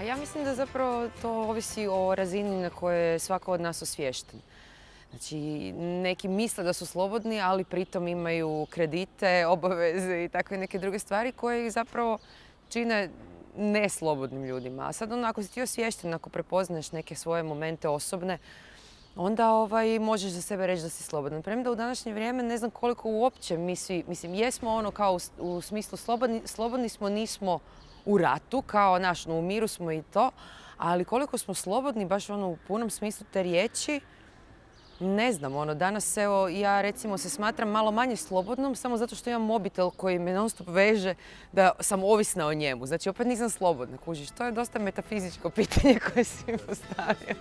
Ja mislim da zapravo to ovisi o razini na kojoj je svako od nas osviješten. Znači, neki misle da su slobodni, ali pritom imaju kredite, obaveze i takve neke druge stvari koje ih zapravo čine neslobodnim ljudima. A sad ako si ti osviješten, ako prepoznaješ neke svoje momente osobne, onda možeš za sebe reći da si slobodan. Premda u današnje vrijeme ne znam koliko uopće mi svi, mislim, jesmo ono kao u smislu slobodni smo, nismo u ratu, kao u miru smo i to, ali koliko smo slobodni, baš u punom smislu te riječi, ne znam, danas evo ja recimo se smatram malo manje slobodnom samo zato što imam mobitel koji me non stop veže da sam ovisna o njemu. Znači opet nisam slobodna, kužiš. To je dosta metafizičko pitanje koje si mi postavio.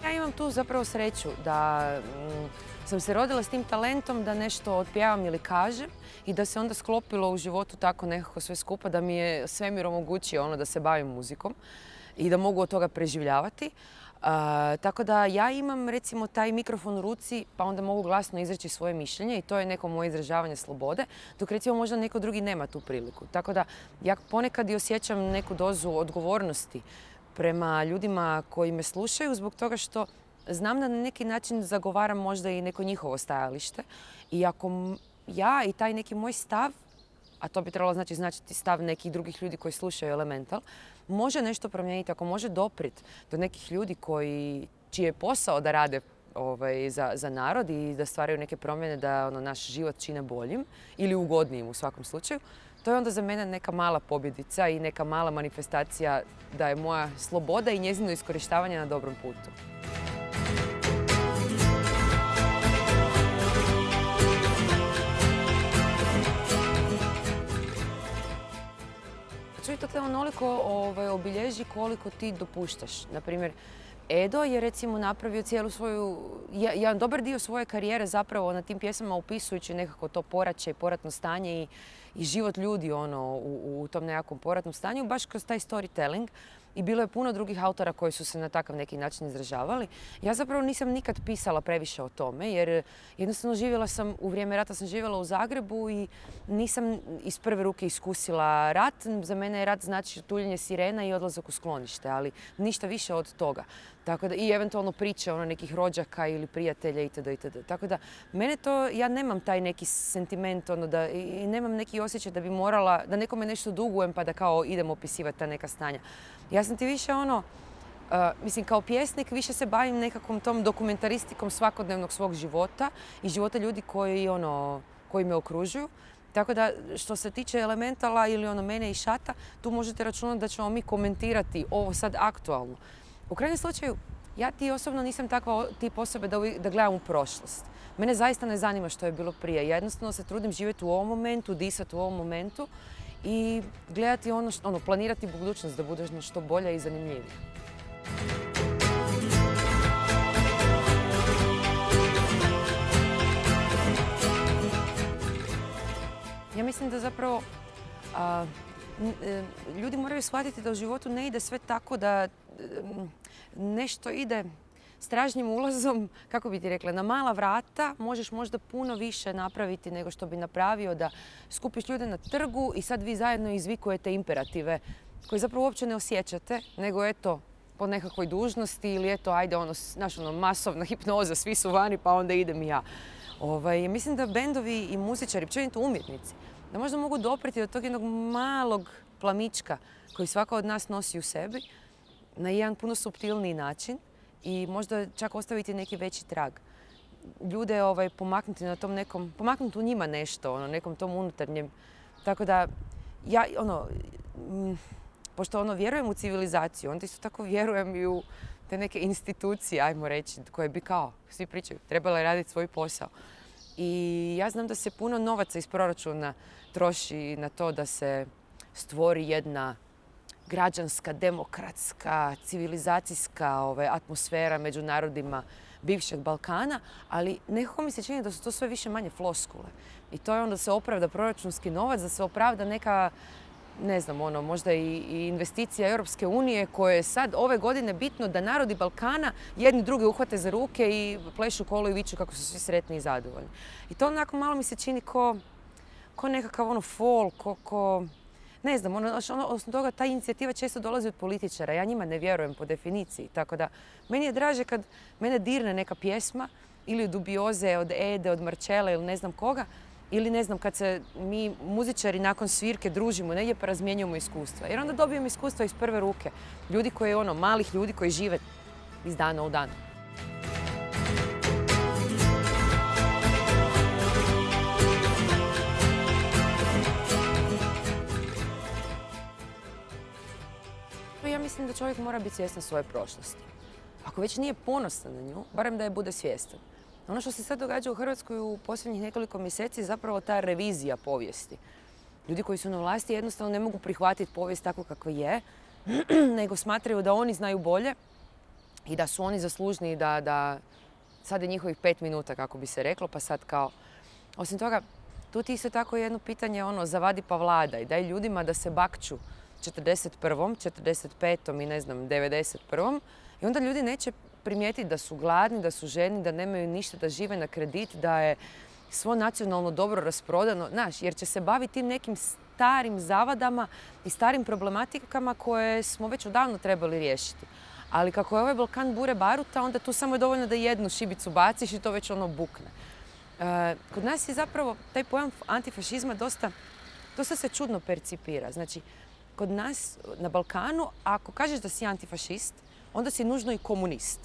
Ja imam tu zapravo sreću da sam se rodila s tim talentom da nešto otpjevam ili kažem i da se onda sklopilo u životu tako nekako sve skupa da mi je svemir omogućio da se bavim muzikom i da mogu od toga preživljavati. Tako da ja imam recimo taj mikrofon u ruci pa onda mogu glasno izreći svoje mišljenje i to je neko moje izražavanje slobode, dok recimo možda neko drugi nema tu priliku. Tako da ja ponekad i osjećam neku dozu odgovornosti prema ljudima koji me slušaju zbog toga što znam da na neki način zagovaram možda i neko njihovo stajalište i ako ja i taj neki moj stav, a to bi trebalo značiti stav nekih drugih ljudi koji slušaju Elemental, može nešto promijeniti, ako može doprijeti do nekih ljudi čiji je posao da rade za narod i da stvaraju neke promjene da naš život čine boljim ili ugodnijim u svakom slučaju, to je onda za mene neka mala pobjedica i neka mala manifestacija da je moja sloboda i njezino iskorištavanje na dobrom putu. I to te onoliko obilježi koliko ti dopuštaš. Naprimjer, Edo je recimo napravio cijelu svoju, jedan dobar dio svoje karijere zapravo na tim pjesmama upisujući nekako to poraće i poratno stanje i život ljudi u tom nekakvom poratnom stanju, baš kroz taj storytelling. I bilo je puno drugih autora koji su se na takav neki način izražavali. Ja zapravo nisam nikad pisala previše o tome jer jednostavno živjela sam, u vrijeme rata sam živjela u Zagrebu i nisam iz prve ruke iskusila rat. Za mene je rat znači tuljenje sirena i odlazak u sklonište, ali ništa više od toga. Tako da, i eventualno priče nekih rođaka ili prijatelja itd. Tako da mene to, ja nemam taj neki sentiment i nemam neki osjećaj da bi morala, da nekome nešto dugujem pa da kao idem opisivati ta neka stanja. Ja sam ti više mislim kao pjesnik više se bavim nekakvom tom dokumentaristikom svakodnevnog svog života i života ljudi koji me okružuju. Tako da što se tiče Elementala ili mene i Šata, tu možete računati da ćemo mi komentirati ovo sad aktualno. U krajnjem slučaju, ja ti osobno nisam takva tip osobe da gledam u prošlost. Mene zaista ne zanima što je bilo prije. Ja jednostavno se trudim živjeti u ovom momentu, disati u ovom momentu i gledati planirati budućnost da bude što bolja i zanimljivija. Ja mislim da zapravo ljudi moraju shvatiti da u životu ne ide sve tako da nešto ide stražnjim ulazom, kako bi ti rekla, na mala vrata možeš možda puno više napraviti nego što bi napravio da skupiš ljude na trgu i sad vi zajedno izvikujete imperative koje zapravo uopće ne osjećate, nego eto po nekakvoj dužnosti ili eto ajde masovna hipnoza, svi su vani pa onda idem i ja. Mislim da bendovi i muzičari, općenito umjetnici, da možda mogu dopriti do tog jednog malog plamička koji svaka od nas nosi u sebi na jedan puno suptilniji način i možda čak ostaviti neki veći trag. Ljude pomaknuti na tom nekom, pomaknuti u njima nešto, nekom tom unutarnjem. Tako da ja, pošto vjerujem u civilizaciju, onda isto tako vjerujem i u te neke institucije, ajmo reći, koje bi kao, svi pričaju, trebale raditi svoj posao. I ja znam da se puno novaca iz proračuna troši na to da se stvori jedna građanska, demokratska, civilizacijska atmosfera među narodima bivšeg Balkana, ali nekako mi se čini da su to sve više manje floskule. I to je onda da se opravda proračunski novac, da se opravda neka ne znam, možda i investicija Europske unije koje je sad ove godine bitno da narodi Balkana jedni drugi uhvate za ruke i plešu kolo i viču kako su svi sretni i zadovoljni. I to onako malo mi se čini ko nekakav folk, ne znam, osim toga ta inicijativa često dolazi od političara. Ja njima ne vjerujem po definiciji. Tako da, meni je draže kad mene dirne neka pjesma ili od Dubioze, od Ede, od Marčela ili ne znam koga, ili ne znam, kad se mi muzičari nakon svirke družimo negdje pa razmjenjujemo iskustva. Jer onda dobijemo iskustva iz prve ruke. Ljudi koji, malih ljudi koji žive iz dana u dan. Ja mislim da čovjek mora biti svjestan svoje prošlosti. Ako već nije ponosan na nju, barem da je bude svjestan. Ono što se sad događa u Hrvatskoj u posljednjih nekoliko mjeseci je zapravo ta revizija povijesti. Ljudi koji su na vlasti jednostavno ne mogu prihvatiti povijest tako kakva je, nego smatraju da oni znaju bolje i da su oni zaslužni da sad je njihovih 5 minuta, kako bi se reklo, pa sad kao... Osim toga, tu ti isto tako jedno pitanje, zavadi pa vladaj, daj ljudima da se bakću 41., 45. i ne znam, 91. I onda ljudi neće primijetiti da su gladni, da su žedni, da nemaju ništa, da žive na kredit, da je svo nacionalno dobro rasprodano. Znaš, jer će se baviti tim nekim starim zavadama i starim problematikama koje smo već odavno trebali riješiti. Ali kako je ovaj Balkan bure baruta, onda tu samo je dovoljno da jednu šibicu baciš i to već bukne. Kod nas je zapravo taj pojam antifašizma dosta se čudno percipira. Znači, kod nas na Balkanu, ako kažeš da si antifašist, onda si nužno i komunist.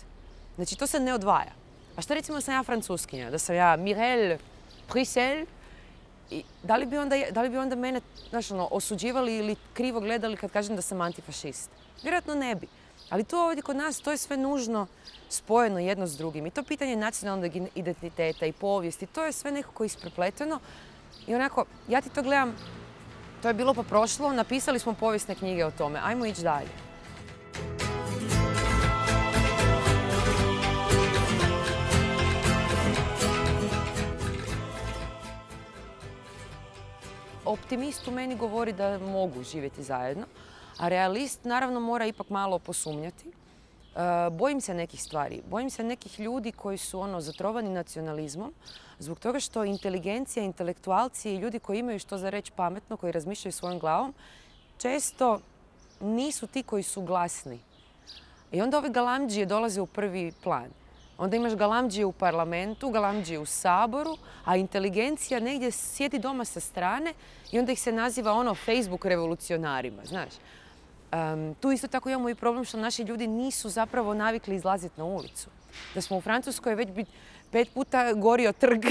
Znači, to se ne odvaja. A šta recimo da sam ja francuskinja, da sam ja Mireille Prissel, da li bi onda mene osuđivali ili krivo gledali kad kažem da sam antifašist? Vjerojatno ne bi. Ali to ovdje kod nas, to je sve nužno spojeno jedno s drugim. I to pitanje nacionalnog identiteta i povijesti, to je sve nekako isprepleteno. I onako, ja ti to gledam, to je bilo pa prošlo, napisali smo povijesne knjige o tome, ajmo ići dalje. Optimist u meni govori da mogu živjeti zajedno, a realist naravno mora ipak malo posumnjati. Bojim se nekih stvari. Bojim se nekih ljudi koji su zatrovani nacionalizmom zbog toga što inteligencija, intelektualci i ljudi koji imaju što za reći pametno, koji razmišljaju svojom glavom, često nisu ti koji su glasni. I onda ove galamdžije dolaze u prvi plan. Onda imaš galamdžije u parlamentu, galamdžije u Saboru, a inteligencija negdje sjedi doma sa strane i onda ih se naziva Facebook revolucionarima, znaš. Tu isto tako imamo i problem što naši ljudi nisu zapravo navikli izlaziti na ulicu. Da smo u Francuskoj već bi 5 puta gorio trg,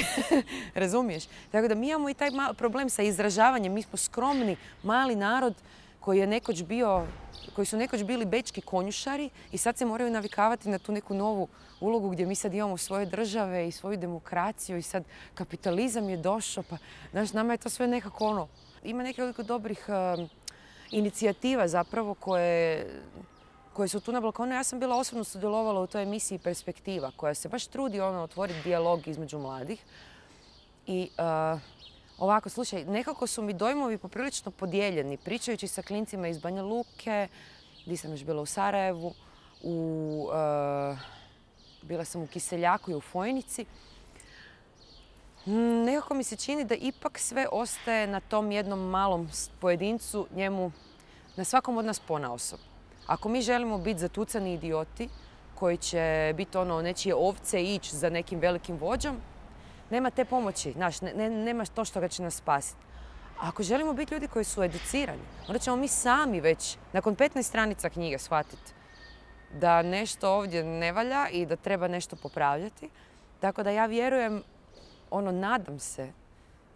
razumiješ? Tako da mi imamo i taj problem sa izražavanjem. Mi smo skromni, mali narod koji su nekoć bili bečki konjušari i sad se moraju navikavati na tu neku novu ulogu gdje mi sad imamo svoje države i svoju demokraciju i sad kapitalizam je došao. Pa, znaš, nama je to sve nekako Ima nekoliko dobrih inicijativa zapravo koje su tu na Balkanu. Ja sam bila osobno sudjelovala u toj emisiji Perspektiva koja se baš trudi otvoriti dijalog između mladih. I ovako, slušaj, nekako su mi dojmovi poprilično podijeljeni. Pričajući sa klincima iz Banja Luke, gdje sam još bila u Sarajevu, bila sam u Kiseljaku i u Fojnici. Nekako mi se čini da ipak sve ostaje na tom jednom malom pojedincu, njemu, na svakom od nas ponaosob. Ako mi želimo biti zatucani idioti koji će biti nečije ovce i ići za nekim velikim vođom, nema te pomoći, znaš, nema to što ga će nas spasiti. A ako želimo biti ljudi koji su educirani, onda ćemo mi sami već nakon 15 stranica knjige shvatiti da nešto ovdje ne valja i da treba nešto popravljati. Tako da ja vjerujem, nadam se,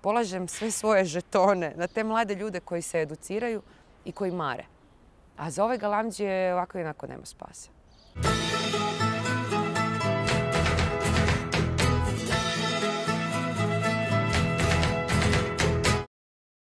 polažem sve svoje žetone na te mlade ljude koji se educiraju i koji mare. A za ove galamdžije ovako i onako nema spasa.